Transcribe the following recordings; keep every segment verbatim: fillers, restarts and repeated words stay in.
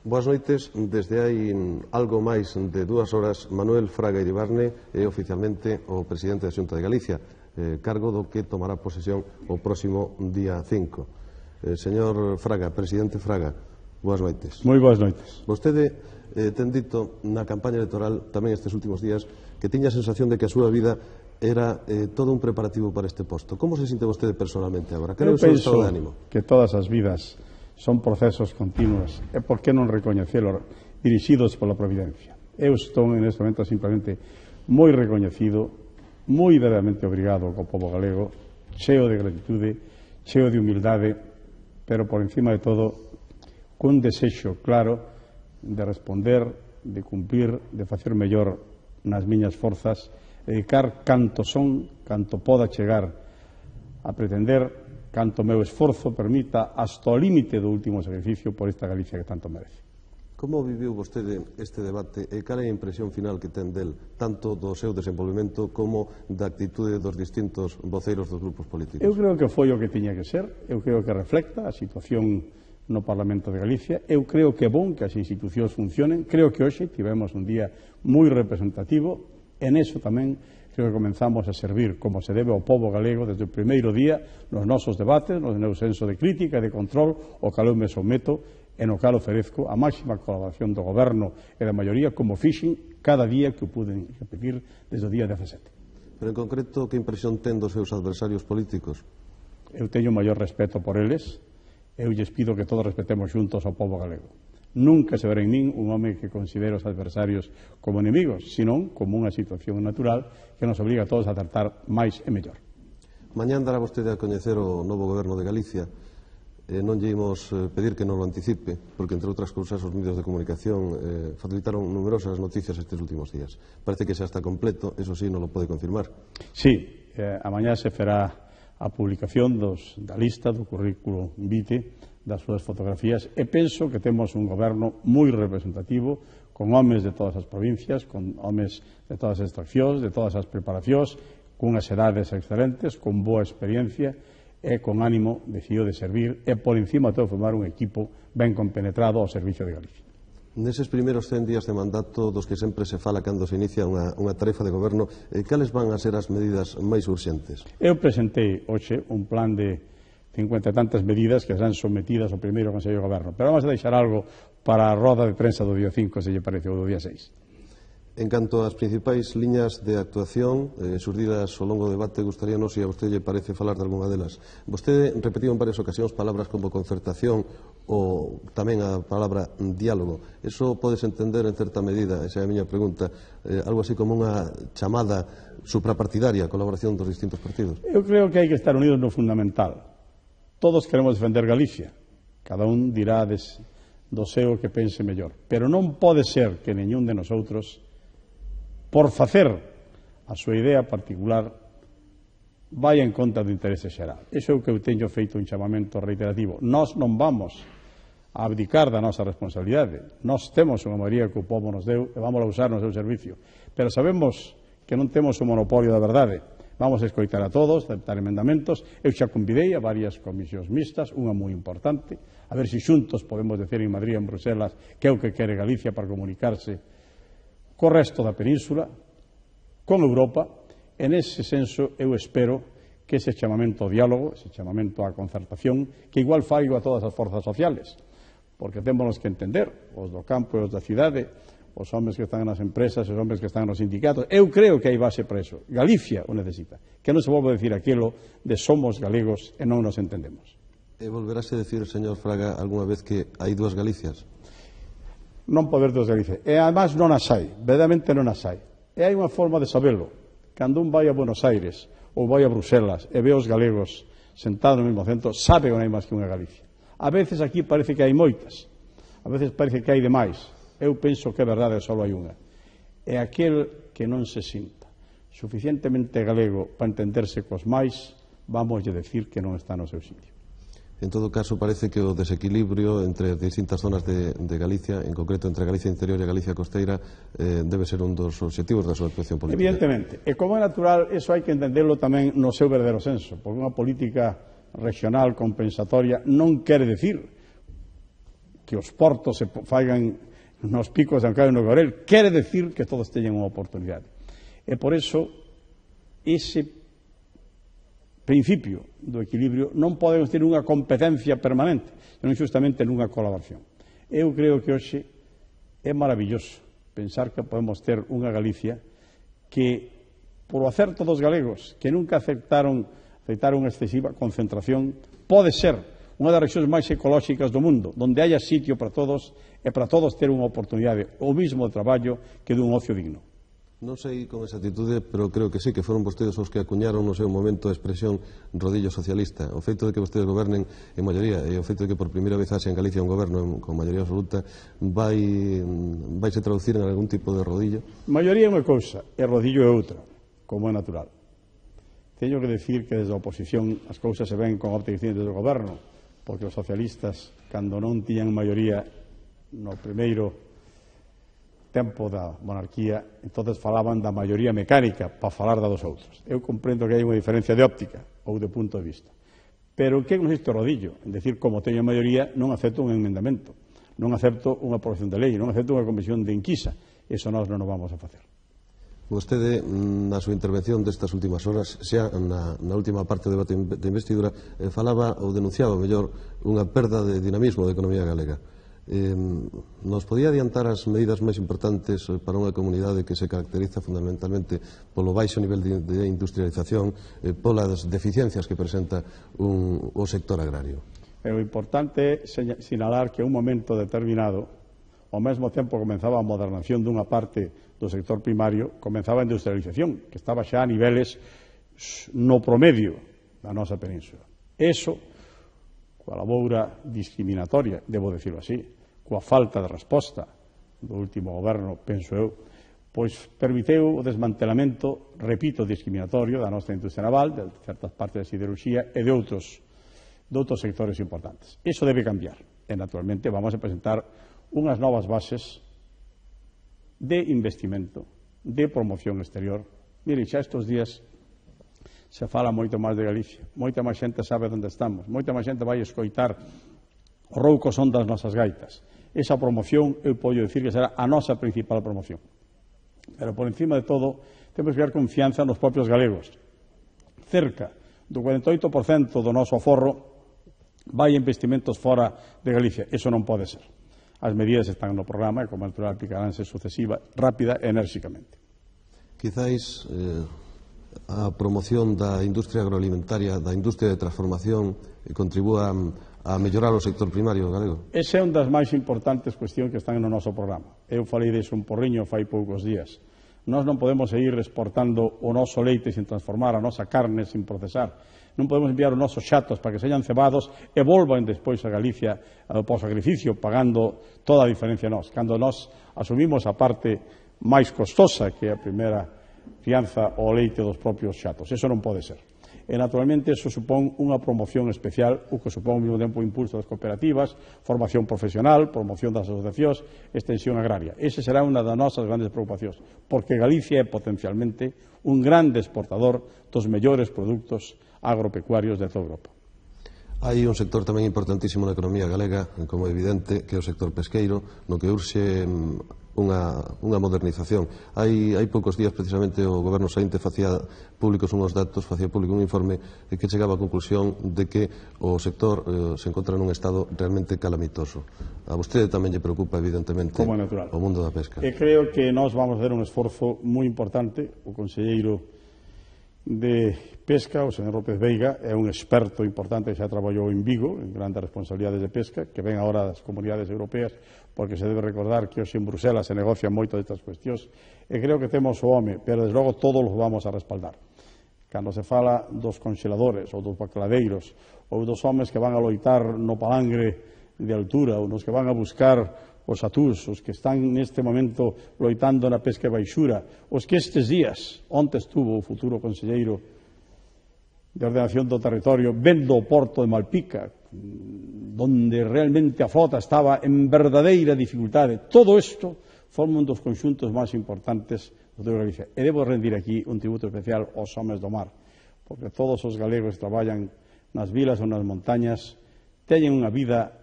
Boas noites. Desde hai algo máis de dúas horas, Manuel Fraga Iribarne é oficialmente o presidente da Xunta de Galicia, eh, cargo do que tomará posesión o próximo día cinco. Eh, señor Fraga, presidente Fraga, boas noites. Moi boas noites. Vostede eh, ten dito na campaña electoral tamén estes últimos días que tiña a sensación de que a súa vida era eh, todo un preparativo para este posto. Como se sinte vostede personalmente agora? Que é o seu estado de ánimo? Que todas as vidas son procesos continuos e por que non recoñecelo dirixidos pola Providencia. Eu estou neste momento simplemente moi recoñecido, moi verdadeiramente obrigado co povo galego, cheo de gratitude, cheo de humildade, pero por encima de todo cun desexo claro de responder, de cumprir, de facer mellor nas miñas forzas, dedicar canto son, canto poda chegar a pretender, canto meu esforzo permita hasta o límite do último sacrificio por esta Galicia que tanto merece. Como viviu vostede este debate e cal é a impresión final que ten del, tanto do seu desenvolvemento como da actitude dos distintos voceiros dos grupos políticos? Eu creo que foi o que tiña que ser, eu creo que reflecta a situación no Parlamento de Galicia, eu creo que é bon que as institucións funcionen, creo que hoxe tivemos un día moi representativo, en eso tamén creo que comenzamos a servir como se debe ao povo galego desde o primeiro día nos nosos debates, no meu senso de crítica e de control, o cal eu me someto e no cal oferezco a máxima colaboración do Goberno e da maioría como fixen cada día que o puden repetir desde o día dezasete. Pero en concreto, que impresión ten dos seus adversarios políticos? Eu teño maior respeto por eles, eu lles pido que todos respetemos xuntos ao povo galego. Nunca se verá en min un home que considere os adversarios como enemigos, senón como unha situación natural que nos obriga a todos a tratar máis e mellor. Mañán dará vostede a coñecer o novo goberno de Galicia. Eh, non lle imos eh, pedir que non lo anticipe, porque, entre outras cousas, os medios de comunicación eh, facilitaron numerosas noticias estes últimos días. Parece que xa está completo, eso sí, non lo pode confirmar. Sí, eh, a mañá se fará a publicación dos, da lista do currículo vitae das súas fotografías e penso que temos un goberno moi representativo con homes de todas as provincias, con homes de todas as extraccións, de todas as preparacións, cunhas edades excelentes, con boa experiencia e con ánimo decidido de servir e por encima de todo formar un equipo ben compenetrado ao servicio de Galicia. Neses primeiros cen días de mandato dos que sempre se fala cando se inicia unha, unha tarefa de goberno, eh, cales van a ser as medidas máis urxentes? Eu presentei hoxe un plan de cincuenta e tantas medidas que serán sometidas ao primeiro Consello de Goberno. Pero vamos a deixar algo para a roda de prensa do día cinco, se lle parece, ou do día seis. En canto ás principais liñas de actuación eh, surdidas ao longo do debate, gustaríanos, se a vostede lle parece, falar de algunha delas. Vostede repetiu en varias ocasións palabras como concertación ou tamén a palabra diálogo. Eso podes entender en certa medida, esa é a miña pregunta, eh, algo así como unha chamada suprapartidaria, colaboración dos distintos partidos? Eu creo que hai que estar unidos no fundamental. Todos queremos defender Galicia, cada un dirá des, do seu que pense mellor, pero non pode ser que neñún de nosotros, por facer a súa idea particular, vaya en contra do interese xeral. Iso é o que eu teño feito un chamamento reiterativo. Nós non vamos a abdicar da nosa responsabilidade. Nós temos unha maioría que o povo nos deu e vamos a usar no seu servicio, pero sabemos que non temos o monopolio da verdade. Vamos a escoitar a todos, aceptar emendamentos. Eu xa convidei a varias comisións mixtas, unha moi importante, a ver se xuntos podemos decir en Madrid e en Bruselas que é o que quere Galicia para comunicarse co resto da península, con Europa. En ese senso eu espero que ese chamamento ao diálogo, ese chamamento á concertación, que igual faigo a todas as forzas sociales, porque temos que entender, os do campo e os da cidade, os homes que están nas empresas, os homes que están nos sindicatos. Eu creo que hai base para eso. Galicia o necesita. Que non se volva a decir aquilo de somos galegos e non nos entendemos. E volverase a decir, señor Fraga, algunha vez que hai dúas Galicias? Non pode haber dúas Galicias. E además non as hai. Verdadeiramente non as hai. E hai unha forma de sabelo. Cando un vai a Buenos Aires ou vai a Bruselas e ve os galegos sentados no mesmo centro, sabe que non hai máis que unha Galicia. A veces aquí parece que hai moitas. A veces parece que hai demais. Eu penso que é verdade, só hai unha. É aquel que non se sinta suficientemente galego para entenderse cos máis, vamos a decir que non está no seu sitio. En todo caso, parece que o desequilibrio entre distintas zonas de, de Galicia, en concreto entre Galicia Interior e Galicia Costeira, eh, debe ser un dos obxectivos da súa actuación política. Evidentemente. E como é natural, eso hai que entenderlo tamén no seu verdadeiro senso, porque unha política regional compensatoria non quere decir que os portos se faigan nos picos de Ancaio e no Gorel, quere decir que todos teñen unha oportunidade. E por eso, ese principio do equilibrio non podemos ter unha competencia permanente, senón justamente nunha colaboración. Eu creo que hoxe é maravilloso pensar que podemos ter unha Galicia que, por o acerto dos galegos, que nunca aceptaron, aceptaron unha excesiva concentración, pode ser unha das rexións máis ecolóxicas do mundo, onde haya sitio para todos e para todos ter unha oportunidade, o mismo de traballo que dun ocio digno. Non sei con exactitude, pero creo que sí, que foron vostedes os que acuñaron no seu momento a expresión rodillo socialista. O feito de que vostedes gobernen en maioría e o feito de que por primeira vez haxe en Galicia un goberno con maioría absoluta vai, vai se traducir en algún tipo de rodillo? Maioría é unha cousa, e rodillo é outra, como é natural. Teño que decir que desde a oposición as cousas se ven con óptica distinta desde o goberno, porque os socialistas, cando non tiñan maioría no primeiro tempo da monarquía, entonces falaban da maioría mecánica para falar da dos outros. Eu comprendo que hai unha diferencia de óptica ou de punto de vista. Pero que consiste o rodillo? En decir, como teño maioría, non acepto un emendamento, non acepto unha aprobación de lei, non acepto unha comisión de inquisa. Eso nós non o vamos a facer. Vostede, na súa intervención destas últimas horas, xa na, na última parte do debate de investidura, eh, falaba ou denunciaba, mellor, unha perda de dinamismo da economía galega. Eh, nos podía adiantar as medidas máis importantes para unha comunidade que se caracteriza fundamentalmente polo baixo nivel de, de industrialización, eh, polas deficiencias que presenta un, o sector agrario? É o importante é sinalar que en un momento determinado, ao mesmo tempo comenzaba a modernización dunha parte do sector primario, comenzaba a industrialización, que estaba xa a niveles no promedio da nosa península. Eso, coa laboura discriminatoria, debo decirlo así, coa falta de resposta do último goberno, penso eu, pois permiteu o desmantelamento, repito, discriminatorio da nosa industria naval, de certas partes da siderurxía e de outros, de outros sectores importantes. Iso debe cambiar. E, naturalmente, vamos a presentar unhas novas bases de investimento, de promoción exterior. Mire, xa estes días se fala moito máis de Galicia, moita máis xente sabe onde estamos, moita máis xente vai escoitar o rouco son das nosas gaitas. Esa promoción, eu podo dicir que será a nosa principal promoción. Pero, por encima de todo, temos que dar confianza nos propios galegos. Cerca do cuarenta e oito por cento do noso aforro vai a investimentos fora de Galicia. Eso non pode ser. As medidas están no programa e, como natural, aplicaránse sucesiva, rápida e enérxicamente. Quizáis eh, a promoción da industria agroalimentaria, da industria de transformación, eh, contribúa a mellorar o sector primario galego? Esa é unha das máis importantes cuestións que están no noso programa. Eu falei deso un porriño fai poucos días. Nós non podemos seguir exportando o noso leite sin transformar, a nosa carne sin procesar. Non podemos enviar os nosos xatos para que sean cebados e volvan despois a Galicia ao pos-sacrificio pagando toda a diferencia nós. Cando nós asumimos a parte máis costosa, que é a primeira fianza ao leite dos propios xatos. Eso non pode ser. E, naturalmente, eso supón unha promoción especial, o que supón ao mesmo tempo o impulso das cooperativas, formación profesional, promoción das asociacións, extensión agraria. Ese será unha das nosas grandes preocupacións, porque Galicia é potencialmente un grande exportador dos mellores produtos agropecuarios de toda Europa. Hai un sector tamén importantísimo na economía galega, como é evidente, que é o sector pesqueiro, no que urxe unha, unha modernización. Hai, hai poucos días, precisamente, o Goberno saínte facía públicos unhos datos, facía público un informe que chegaba á conclusión de que o sector eh, se encontra nun estado realmente calamitoso. A vostede tamén lle preocupa, evidentemente, o mundo da pesca. E creo que nós vamos a fazer un esforzo moi importante. O conselleiro de Pesca, o señor López Veiga, é un experto importante que xa traballou en Vigo, en grandes responsabilidades de pesca, que ven agora das comunidades europeas, porque se debe recordar que hoxe en Bruselas se negocian moito destas cuestións, e creo que temos o home, pero desde logo todos os vamos a respaldar. Cando se fala dos congeladores, ou dos bacladeiros, ou dos homes que van a loitar no palangre de altura, ou nos que van a buscar os atús, os que están neste momento loitando na pesca baixura, os que estes días, onte estuvo o futuro conselleiro de ordenación do territorio vendo o porto de Malpica, donde realmente a flota estaba en verdadeira dificultade. Todo isto forma un dos conxuntos máis importantes do de Galicia. E debo rendir aquí un tributo especial aos homes do mar, porque todos os galegos que traballan nas vilas ou nas montañas teñen unha vida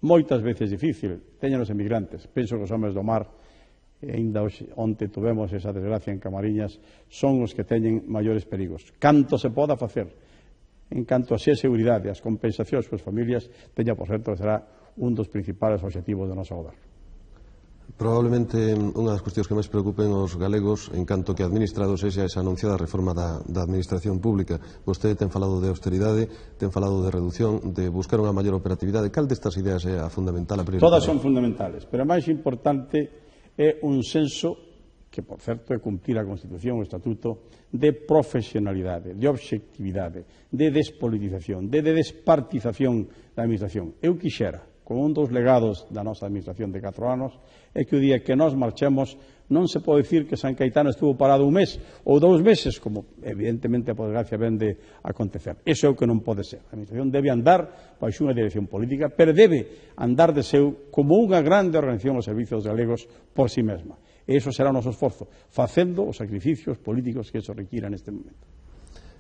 moitas veces difícil, teñen os emigrantes. Penso que os homes do mar, e ainda onte tuvemos esa desgracia en Camariñas, son os que teñen maiores perigos. Canto se poda facer en canto a ser seguridade, as compensacións coas familias, teña por certo que será un dos principales obxectivos do noso goberno. Probablemente unha das cuestións que máis preocupen os galegos en canto que administrados é esa anunciada reforma da, da administración pública. Vostede ten falado de austeridade, ten falado de reducción, de buscar unha maior operatividade. Cal destas ideas é a fundamental, a prioritaria? Todas son fundamentales, pero a máis importante é un senso, que por certo é cumprir a Constitución o Estatuto, de profesionalidade, de obxectividade, de despolitización, de despartización da administración. Eu quixera, con un dos legados da nosa administración de catro anos, é que o día que nós marchemos non se pode dicir que San Caetano estuvo parado un mes ou dous meses, como evidentemente por desgracia ven de acontecer. Iso é o que non pode ser. A administración debe andar baixo unha dirección política, pero debe andar de seu como unha grande organización aos servizos galegos por si mesma. E iso será o noso esforzo, facendo os sacrificios políticos que iso requira neste momento.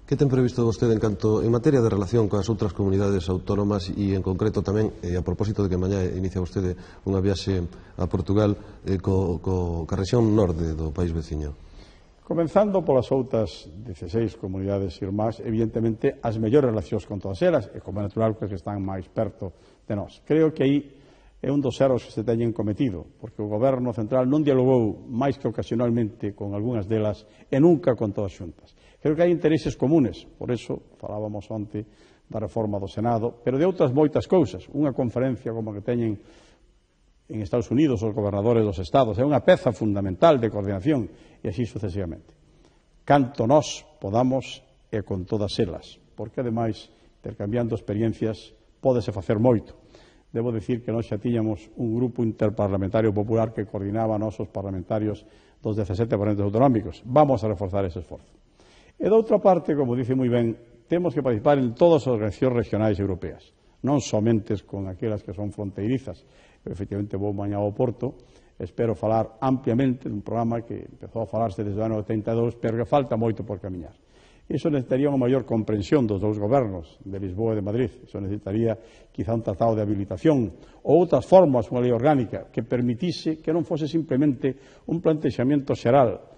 Que ten previsto vostede en canto en materia de relación coas outras comunidades autónomas e en concreto tamén, e a propósito de que mañá inicia vostede unha viaxe a Portugal eh, co, co, ca rexión norte do país veciño? Comenzando polas outras dieciséis comunidades irmás, evidentemente as mellores relacións con todas elas, e como é natural que están máis perto de nós. Creo que aí é un dos erros que se teñen cometido, porque o Goberno Central non dialogou máis que ocasionalmente con algunhas delas e nunca con todas xuntas. Creo que hai intereses comunes, por eso falábamos onte da reforma do Senado, pero de outras moitas cousas. Unha conferencia como que teñen en Estados Unidos os gobernadores dos estados é unha peza fundamental de coordinación e así sucesivamente. Canto nós podamos e con todas elas, porque ademais, intercambiando experiencias, pódese facer moito. Debo dicir que nós xa tiñamos un grupo interparlamentario popular que coordinaba a nosos parlamentarios dos dezasete parlamentos autonómicos. Vamos a reforzar ese esforzo. E, de outra parte, como dice moi ben, temos que participar en todas as organizacións regionais europeas, non somente con aquelas que son fronteirizas. Eu, efectivamente, vou mañá ao Porto, espero falar ampliamente dun programa que empezou a falarse desde o ano oitenta e dous, pero que falta moito por camiñar. Iso necesitaría unha maior comprensión dos dous gobernos, de Lisboa e de Madrid. Iso necesitaría, quizá, un tratado de habilitación ou outras formas, unha lei orgánica, que permitise que non fose simplemente un plantexamento xeral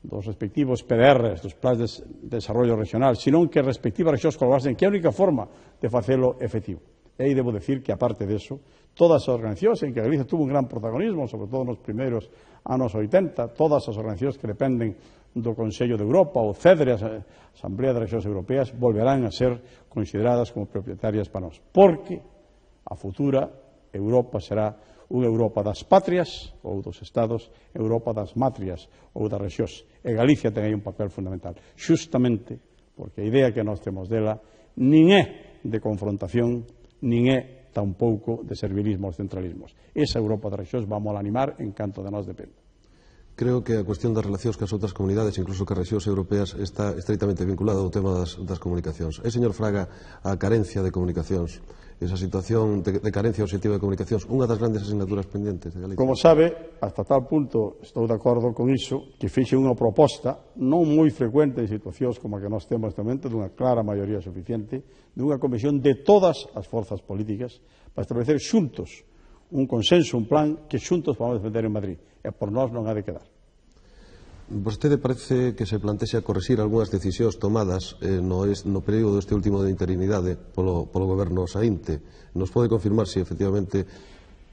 dos respectivos P D Rs, dos plans de desarrollo regional, senón que respectivas rexións colaborasen, que é a única forma de facelo efectivo. E aí debo decir que, aparte deso, todas as organizacións en que Galicia tuvo un gran protagonismo, sobre todo nos primeiros anos oitenta, todas as organizacións que dependen do Consello de Europa, o CEDRE, a Asamblea de Rexións Europeas, volverán a ser consideradas como propietarias para nós. Porque a futura Europa será unha Europa das patrias ou dos estados, Europa das matrias ou das rexións. E Galicia ten aí un papel fundamental, xustamente porque a idea que nós temos dela nin é de confrontación, nin é tampouco de servilismo aos centralismos. Esa Europa das rexións vamos a animar en canto de nós depende. Creo que a cuestión das relacións cas outras comunidades, incluso cas rexións europeas, está estreitamente vinculada ao tema das, das comunicacións. É, señor Fraga, a carencia de comunicacións, esa situación de, de carencia obxectiva de comunicacións, unha das grandes asignaturas pendentes de Galicia? Como sabe, hasta tal punto estou de acordo con iso, que fixe unha proposta non moi frecuente en situacións como a que nós temos neste momento, dunha clara maioría suficiente, dunha comisión de todas as forzas políticas para establecer xuntos un consenso, un plan que xuntos vamos a defender en Madrid. E por nós non ha de quedar. Vostede parece que se plantexa correxir algunhas decisións tomadas eh, no, es, no período deste último de interinidade polo, polo goberno saínte. Nos pode confirmar se efectivamente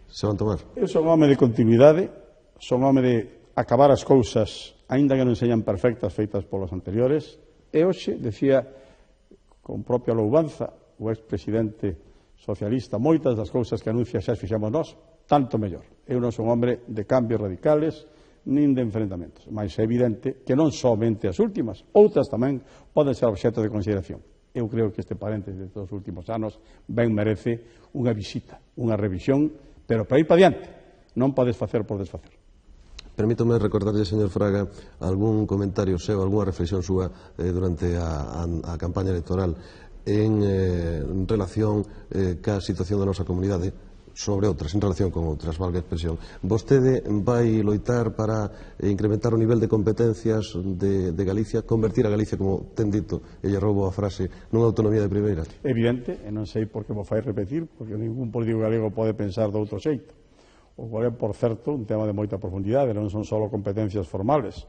se van tomar? Eu son home de continuidade, son home de acabar as cousas, aínda que non señan perfectas feitas polos anteriores. E hoxe, decía con propia louvanza o expresidente socialista, moitas das cousas que anuncia xa as fixamos nós, tanto mellor. Eu non son hombre de cambios radicales nin de enfrentamentos, mas é evidente que non somente as últimas, outras tamén poden ser obxecto de consideración. Eu creo que este paréntesis dos últimos anos ben merece unha visita, unha revisión, pero para ir para diante, non para desfacer por desfacer. Permítome recordarlle, señor Fraga, algún comentario seu, algunha reflexión súa eh, durante a, a, a campaña electoral en, eh, en relación eh, ca situación da nosa comunidade. sobre outras, en relación con outras, valga a expresión. Vostede vai loitar para incrementar o nivel de competencias de, de Galicia, convertir a Galicia, como ten dito, e lle roubo a frase, nunha autonomía de primeira? Evidente, e non sei por que vos fai repetir, porque ningún político galego pode pensar de outro xeito. O cual é, por certo, un tema de moita profundidade, non son só competencias formales,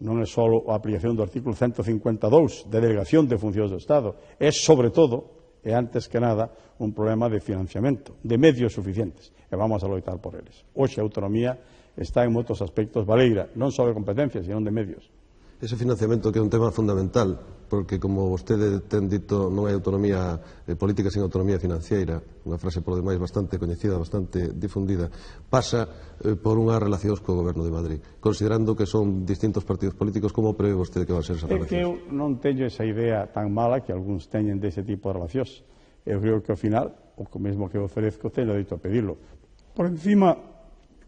non é só a aplicación do artículo ciento cincuenta e dous de delegación de funcións do Estado, é, sobre todo, e antes que nada, un problema de financiamento, de medios suficientes, e vamos a loitar por eles. Hoxe a autonomía está en moitos aspectos baleira, non só de competencias, sino de medios. Ese financiamento que é un tema fundamental, porque, como vostede ten dito, non hai autonomía eh, política sen autonomía financiera, unha frase, por demais, bastante coñecida, bastante difundida, pasa eh, por unhas relacións co Goberno de Madrid. Considerando que son distintos partidos políticos, como prevé vostede que van a ser esas relacións? É que eu non teño esa idea tan mala que algúns teñen dese tipo de relacións. Eu creo que, ao final, o mesmo que oferezco, teño dereito a pedirlo. Por encima,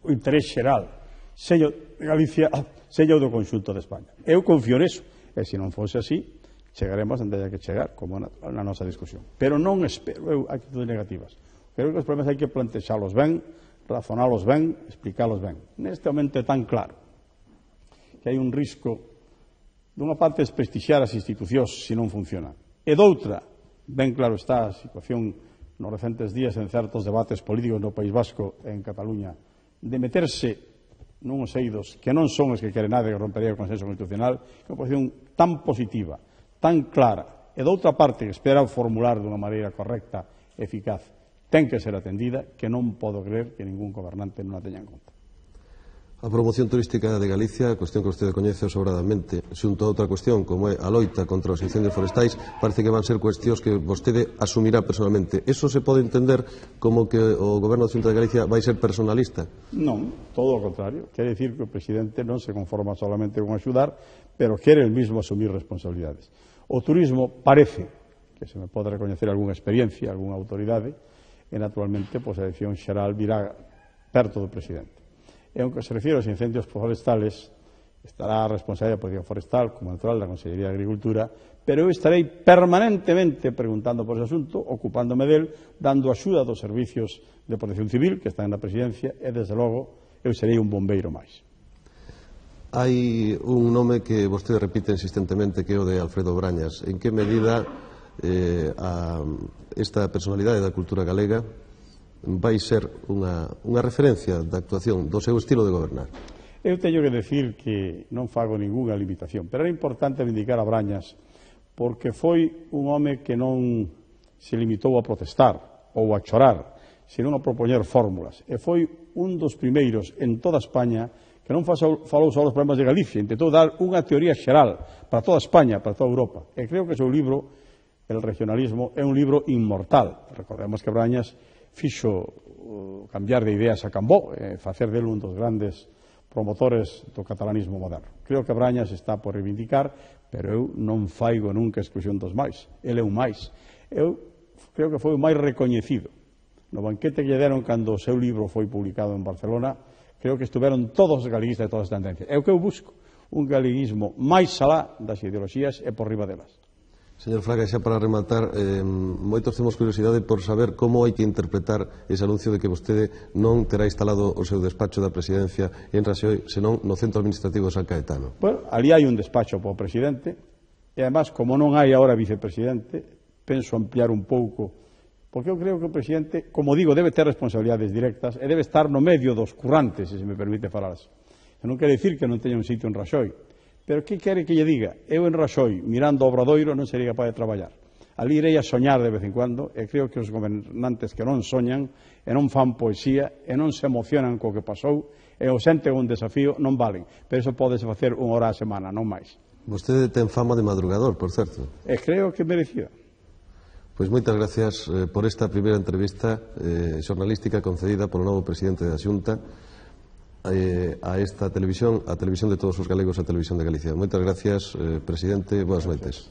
o interés xeral, sello de Galicia, sello do conxunto de España. Eu confío neso, e se non fose así, chegaremos onde hai que chegar, como na, na nosa discusión. Pero non espero eu actitudes negativas. Creo que os problemas hai que plantexalos ben, razonalos ben, explicalos ben. Neste momento é tan claro que hai un risco, dunha parte, desprestixiar as institucións se non funcionan, e doutra, ben claro está a situación nos recentes días en certos debates políticos no País Vasco e en Cataluña, de meterse nuns eidos que non son os que quere nada que rompería o consenso constitucional, que é unha posición tan positiva, tan clara, e doutra parte que espera formular dunha maneira correcta, eficaz, ten que ser atendida, que non podo creer que ningún gobernante non a teña en conta. A promoción turística de Galicia, cuestión que vostede coñece sobradamente, xunto a outra cuestión, como é a loita contra os incendios forestais, parece que van ser cuestións que vostede asumirá personalmente. Eso se pode entender como que o Goberno da Xunta de Galicia vai ser personalista? Non, todo o contrario. Quere dicir que o presidente non se conforma solamente con axudar, pero quere el mismo asumir responsabilidades. O turismo parece que se me pode recoñecer algunha experiencia, algunha autoridade, e naturalmente pois, a decisión xeral virá perto do presidente. E, aunque se refiere aos incendios forestales, estará a responsabilidade da Policía Forestal, como natural, da Consellería de Agricultura, pero eu estarei permanentemente preguntando por ese asunto, ocupándome del, dando axuda dos servicios de protección civil, que están na presidencia, e, desde logo, eu serei un bombeiro máis. Hai un nome que vostede repite insistentemente, que é o de Alfredo Brañas. En que medida eh, a esta personalidade da cultura galega vai ser unha, unha referencia da actuación do seu estilo de gobernar? Eu teño que decir que non fago ninguna limitación, pero era importante vindicar a Brañas porque foi un home que non se limitou a protestar ou a chorar, senón a propoñer fórmulas. E foi un dos primeiros en toda España que non falou só dos problemas de Galicia, intentou dar unha teoría xeral para toda España, para toda Europa. E creo que o seu libro, El regionalismo, é un libro inmortal. Recordemos que Brañas fixo uh, cambiar de ideas a Cambó, e facer dele un dos grandes promotores do catalanismo moderno. Creo que Brañas está por reivindicar, pero eu non faigo nunca exclusión dos máis. Ele é un máis. Eu creo que foi o máis recoñecido. No banquete que lle deron cando o seu libro foi publicado en Barcelona, creo que estuveron todos os galeguistas de todas as tendencias. É o que eu busco, un galeguismo máis alá das ideoloxías e por riba delas. Señor Fraga, xa para rematar, eh, moitos temos curiosidade por saber como hai que interpretar ese anuncio de que vostede non terá instalado o seu despacho da presidencia en Raxoi, senón no centro administrativo de San Caetano. Bueno, ali hai un despacho para o presidente, e además, como non hai agora vicepresidente, penso ampliar un pouco, porque eu creo que o presidente, como digo, debe ter responsabilidades directas e debe estar no medio dos currantes, se me permite falar así. Non quere dicir que non teña un sitio en Raxoi, pero que quere que lle diga? Eu en Raxoi, mirando o Obradoiro, non sería capaz de traballar. Ali irei a soñar de vez en cuando, e creo que os gobernantes que non soñan, e non fan poesía, e non se emocionan co que pasou, e o senten un desafío, non valen. Pero iso podese facer unha hora a semana, non máis. Vostede ten fama de madrugador, por certo. E creo que merecida. Pois moitas gracias eh, por esta primeira entrevista eh, xornalística concedida polo novo presidente da Xunta eh, a esta televisión, a televisión de todos os galegos, a televisión de Galicia. Moitas gracias, eh, presidente, boas noites.